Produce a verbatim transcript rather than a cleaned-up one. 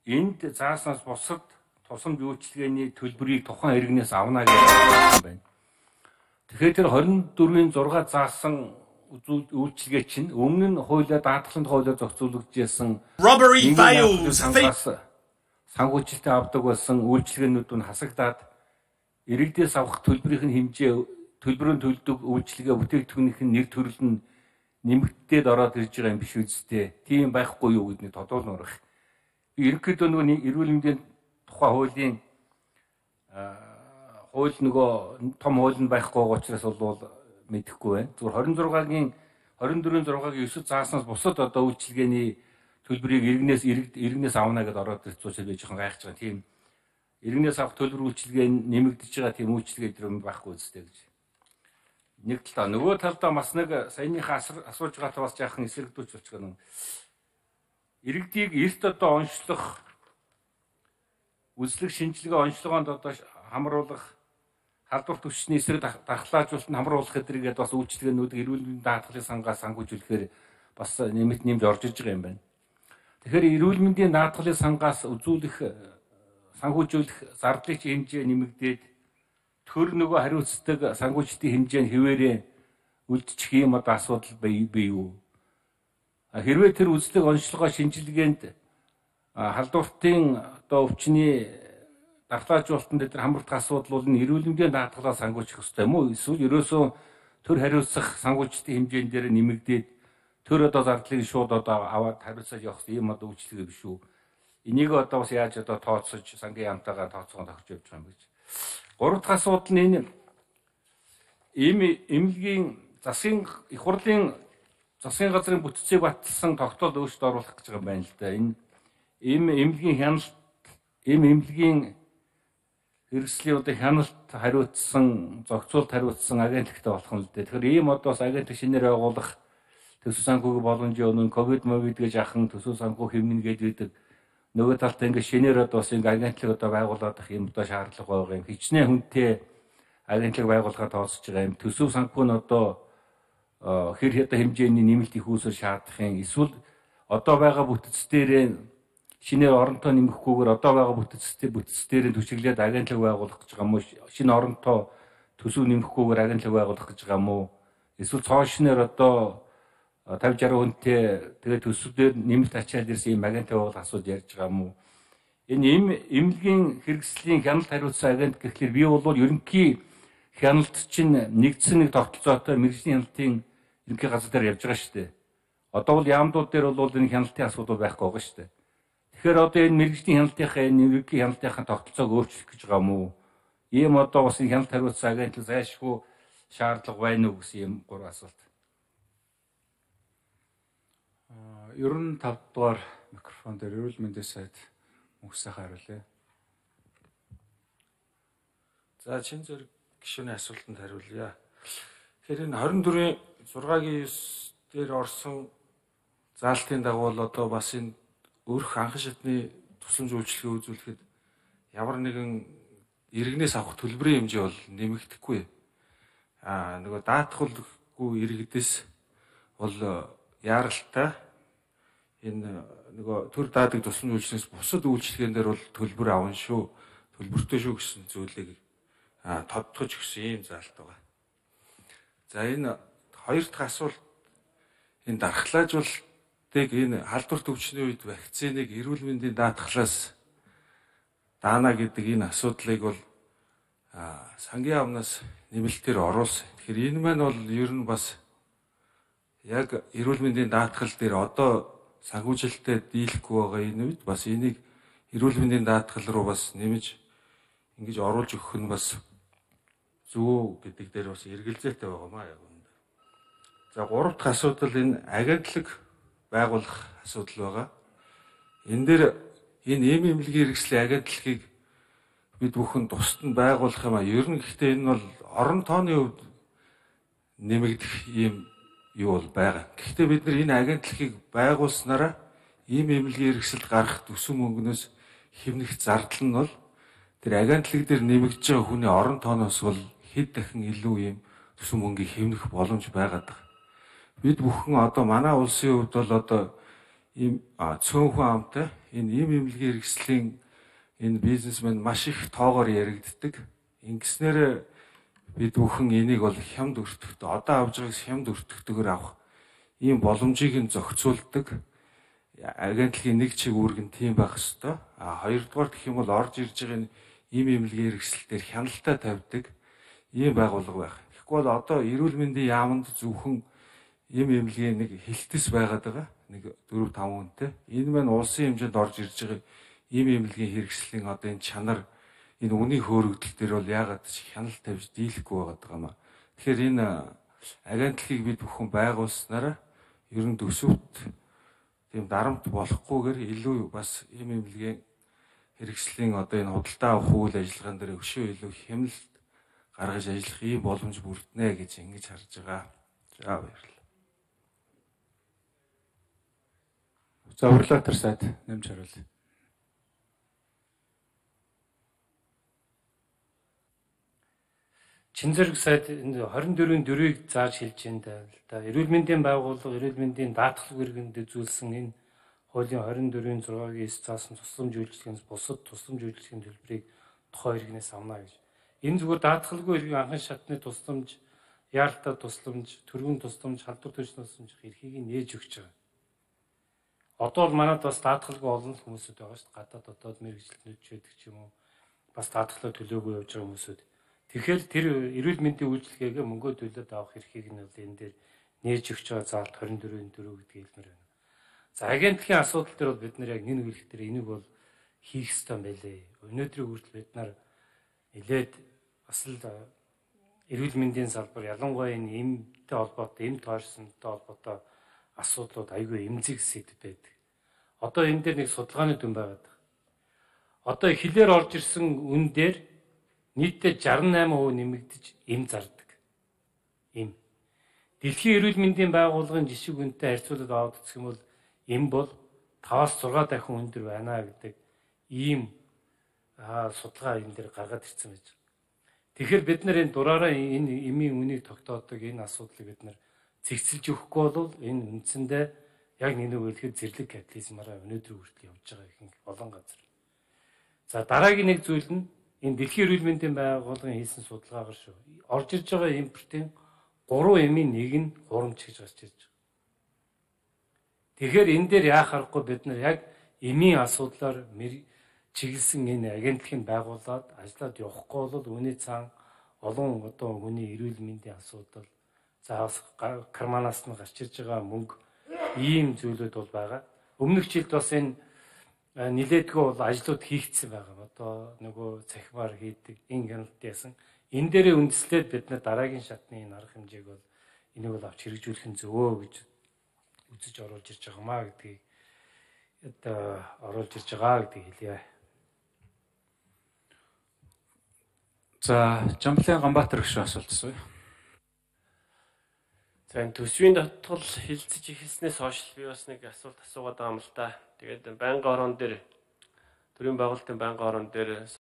энд зааснаас бусад тусамж үйлчилгээний төлбөрийг тухайн иргэнээс авна гэж байна байна. Тэгэхээр тэр хорин дөрвийн зураг заасан үйлчилгээ чинь өмнө нь хуулиар даатгалын хуулиар зохицуулагдсан robbery fails санхүүжилтөд авдаг болсон үйлчилгээнүүд нь хасагдаад иргэдээс авах төлбөрийн хэмжээ төлбөрөнд төлдөг үйлчилгээ бүтээгдэхүүнийх нь нэр төрөл нь нэмэгдээд ороод ирж байгаа юм биш үсттэй. Тийм байхгүй юу гэдгийг тодруулмаар байна. Ерөнхийдөө нөгөө эрүүл мэндийн тухай хуулийн хууль нөгөө том хууль нь байхгүй учраас бол мэдэхгүй байна. Зүгээр хорин зургагийн хорин дөрвийн зургагийн ёсод зааснаас бусад одоо үйлчилгээний төлбөрийг иргэнээс иргэнээс авна гэдээ ороод ирцүүлж байж жоохон гайхаж байгаа. Тийм иргэнээс авах төлбөр үйлчилгээ нэмэгдэж байгаа тийм үйлчилгээ дээр байхгүй үстэй гэж. Нэг талаа нөгөө талдаа бас нэг саяныхаа асууж байгаатай бас яахан эсэргдүүлж болчих гэнэ. Иргэдийг эрт одоо онцлох үзлэг шинжилгээ онцлогоонд одоо хамруулах халдвар түвшний эсрэг дархлаажуулалт нь хамруулах гэдгийг бас үйлчилгээнүүд эрүүл мэндийн даатгалын сангаас санхүүжүүлэхээр бас нэмэт нэмж орж иж байгаа юм байна. Тэгэхээр эрүүл мэндийн даатгалын сангаас үзүүлэх санхүүжүүлэх зардлын хэмжээ нэмэгдээд төр нөгөө хариуцдаг санхүүжилтийн хэмжээ нь хэвээрээ үлдчих юм одоо асуудал бий юу? Хэрвээ тэр үзлэг онцлогоо шинжилгээнд халдвартын одоо өвчний дархлаажуулалтанд дээр хамрагдах асуудал бол эрүүл мэндийн даатгалаас санхүүжих ёстой юм уу? Эсвэл ерөөсөө төр хариуцах санхүүжилтийн хэмжээнд дээр нэмэгдээд төр одоо зардлыг шууд одоо аваад хариуцаад явах юм одоо үйлчлэг биш үү? Энийг одоо бас яаж одоо тооцож сангийн яамтайгаар тооцоогоо тохирч явж байгаа юм гэж. Гурав дахь асуудал нь энэ ийм эмнэлгийн засгийн их хурлын засгийн газрын бүтцийг баталсан тогтоол өөрчлөлт оруулах гэж байгаа юм байна л да. Энэ ийм эмнэлгийн хяналт ийм эмнэлгийн хэрэгслийн одоо хяналт хариуцсан зохицуулт хариуцсан агентлагтай болох нь л дээ. Тэгэхээр ийм одоо бас агентлаг шинээр байгуулах төсөв санхүүгийн боломжийн өмнө ковид мовид гэж ахын төсөв санхүү хэмнэн гэж үүдэг. Нөгөө талд ингээд шинээр одоо бас ингээд агентлаг одоо байгуулах юм одоо шаардлага байгаа юм. Хичнээн хүнтэй агентлаг байгуулахад тооцож байгаа юм. Төсөв санхүү нь одоо хэр хэдэн хэмжээний нэмэлт их үүсвэр шаардах юм. Эсвэл одоо байгаа бүтц дээр шинээр оронтой нэмэхгүйгээр одоо байгаа бүтцтэй бүтц дээр төчиглээд агентлаг байгуулах гэж байгаа юм уу? Шинэ оронтой төсөв нэмэхгүйгээр агентлаг байгуулах гэж байгаа юм уу? Эсвэл цоо шинээр одоо тавьж арван хүнтэй тэгээд төсвөөр нэмэлт ачаал ирсэн юм агенттай бол асууд ярьж байгаа юм уу? Энэ эм эмнэлгийн хэрэгслийн хяналт хариуцсан агент гэхлээр би бол ерөнхий хяналт чинь нэгдсэн нэг тогтолцоотой мэргэжлийн хяналтын ерөнхий газар дээр явж байгаа шүү дээ. Одоо бол яамдууд дээр бол энэ хяналтын асуудал байхгүй байгаа шүү дээ. Тэгэхээр одоо энэ мэргэжлийн хяналтынхаа энэ ерөнхий хяналтынхаа тогтолцоог өөрчлөх гэж байгаа юм уу? Ийм одоо бас энэ хяналт хариуцсан агентлаг зайлшгүй шаардлага байна уу гэсэн юм гурван асуулт. Ер нь тав дугаар микрофон дээр эрүүл мэндийн сайд мөнхсөйхөө хариулъя. За чин зэрэг гишүүний асуултанд хариулъя. Тэгэхээр энэ хорин дөрвийн зургагийн ёс дээр орсон заалтын дагуу бол одоо бас энэ өрх анхан шатны тусламж үйлчилгээ үзүүлэхэд ямар нэгэн иргэнээс авах төлбөрийн хэмжээ бол нэмэгдэхгүй. Аа нөгөө даатгалгүй иргэдээс бол яаралтай энэ нөгөө төр даадаг тусламж үйлчлэгээс бусад үйлчлэгэн дээр бол төлбөр авна шүү. Төлбөртэй шүү гэсэн зүйлийг тодтогч гэсэн ийм заалт байгаа. За энэ хоёр дахь асуулт энэ дархлаажуулалтыг энэ халдвар төвчний үед вакциныг эрүүл мэндийн даатгалаас даана гэдэг энэ асуудлыг бол сангийн амнаас нэмэлтээр оруулсан. Тэгэхээр энэ маань бол ер нь бас яг эрүүл мэндийн даатгал дээр одоо санхүүжилттэй дийлэхгүй байгаа энэ үед бас энийг эрүүл мэндийн даатгал руу бас нэмж ингэж оруулж өгөх нь бас зөв гэдэг дээр бас эргэлзээтэй байгаа маа яг үүнд. За гурав дахь асуудал энэ агентлаг байгуулах асуудал байгаа. Энэ дээр энэ эм эмнэлгийн хэрэгслийн агентлагийг бид бүхэн тусад нь байгуулах юм а. Ер нь гэхдээ энэ бол орон тооны хувьд нэмэгдэх юм юу бол байгаа. Гэхдээ бид нар энэ агентлагийг байгуулснараа ийм эмнэлгийн хэрэгсэлд гарах төсөв мөнгнөөс хэмнэх зардал нь бол тэр агентлаг дээр нэмэгдэж байгаа хүний орон тооноос бол хэд дахин илүү ийм төсөв мөнгийг хэмнэх боломж байгаад байна. Бид бүхэн одоо манай улсын хувьд бол одоо ийм цөөнхөн амтай энэ ийм эмнэлгийн хэрэгслийн энэ бизнесмен маш их тоогоор яригддаг. Ингэснээр бид бүхэн энийг бол хямд өртөгтэй одоо авж байгаагаас хямд өртөгтэйгээр авах ийм боломжийг нь зохицуулдаг. Агентлагийн нэг чиг үүрэг нь тийм байх ёстой. А хоёрдугаар гэх юм бол орж ирж байгаа ийм эмнэлгийн хэрэгсэл дээр хяналтаа тавьдаг ийм байгууллага байх. Тэгэхгүй бол одоо эрүүл мэндийн яамд зөвхөн ийм эмнэлгийн нэг хилтэс байгаад байгаа. Нэг дөрөв таван хүнтэй. Энэ маань улсын хэмжээнд орж ирж байгаа ийм эмнэлгийн хэрэгслийн одоо энэ чанар энэ үнийн хөөрөгдөл дээр бол яагаад ч хяналт тавьж дийлэхгүй байгаад байгаа юм аа. Тэгэхээр энэ агентлагийг бид бүхэн байгуулснараа ер нь төсөвт тийм дарамт болохгүйгээр илүү бас ийм эмнэлгийн хэрэгслийн одоо энэ худалдаа авах үйл ажиллагаан дээр өшөө илүү хямлт гаргаж ажиллах ийм боломж бүрднэ гэж ингэж харж байгаа. За баярлалаа. За урилгатар сайд нэмж хариулъя. Чинзэрэг сайд энэ хорин дөрвийн дөрвийг зааж хэлж байна л да. Эрүүл мэндийн байгууллага, эрүүл мэндийн даатгал иргэнд үзүүлсэн энэ хуулийн хорин дөрвийн зургагийн эс заасан тусламж үйлчлэгийн бусад тусламж үйлчлэгийн төлбөрийг тухайн иргэнээс авна гэж. Энэ зүгээр даатгалгүй иргэн анхан шатны тусламж, яаралтай тусламж, төргөн тусламж, халдвар төсний тусламж эрхийг нээж өгч байгаа. Одоо бол манайд бас даатгалгүй олон хүмүүсүүд байгаа шүү дээ. Гадаад дотоод мэрэгчлэнүүд ч байдаг ч юм уу. Бас даатгалаа төлөөгүй явж байгаа хүмүүсүүд. Тэгэхээр тэр эрүүл мэндийн үйлчилгээгээ мөнгөө төлөөд авах эрхийг нь бол энэ дээр нээж өгч байгаа заалт хорин дөрвийн дөрөв гэдэг хэлмээр байна. За агентлагийн асуудал дээр бол бид нар яг нэг үеих дээр энийг бол хийх ёстой байлээ. Өнөөдрийн хүртэл бид нар нэлээд бас л эрүүл мэндийн салбар ялангуяа энэ эмтэй холбоотой, эм тойрсонтой холбоотой асуудлууд айгүй эмзэг сэдв байдаг. Одоо энэ дээр нэг судалгааны дүн байгаад байна. Одоо хилээр орж ирсэн үн дээр нийтдээ шестнадцать процент нэмэгдэж эм зардаг. Эм. Дэлхийн эрүүл мэндийн байгууллагын жишг үнэтэй харьцуулаад аваад үзэх юм бол эм бол таваас зургаа дахин өндөр байна гэдэг ийм судалгаа энэ дээр гаргаад ирсэн байж байна. Тэгэхээр бид нар энэ дураараа энэ эмийн үнийг тогтоодог энэ асуудлыг бид нар цэгцэлж өгөхгүй бол энэ үндсэндээ яг нэг нэг хэлэхэд зэрлэг капитализмаараа өнөөдөр хүртэл явж байгаа ихэнх олон газар. За дараагийн нэг зүйл нь энэ дэлхийн эрүүл мэндийн байгууллагын хийсэн судалгаагаар шүү. Орж ирж байгаа импортын гурван эмийн нэг нь хурамч гэж гарч ирж байгаа. Тэгэхээр энэ дээр яах аргагүй бид нар яг эмийн асуудлаар чиглэсэн энэ агентлагийг байгуулад ажиллаад явахгүй бол үүний цаан олон одоо хүний эрүүл мэндийн асуудал за карманаас нь гарч ирж байгаа мөнгө ийм зүйлүүд бол байгаа. Өмнөх жилд бас энэ нилээдгүй бол ажлууд хийгдсэн байгаа. Одоо нөгөө цахимаар хийдэг, энэ хяналт яасан. Энэ дээрээ үндэслээд бид нар дараагийн шатны энэ арга хэмжээг бол энийг бол авч хэрэгжүүлэх нь зөвөө гэж үзэж оруулж ирж байгаа маа гэдгийг одоо оруулж ирж байгаа гэдгийг хэлье. За, Жамблын Ганбаатар гүшүү асуулт асууя. За энэ төсвийн дотгол хилцэж ихэлснээс хойш би бас нэг асуулт асуугаад байгаа юм л та. Тэгээд байнгын орон дээр төрийн байгуулалтын байнгын орон дээр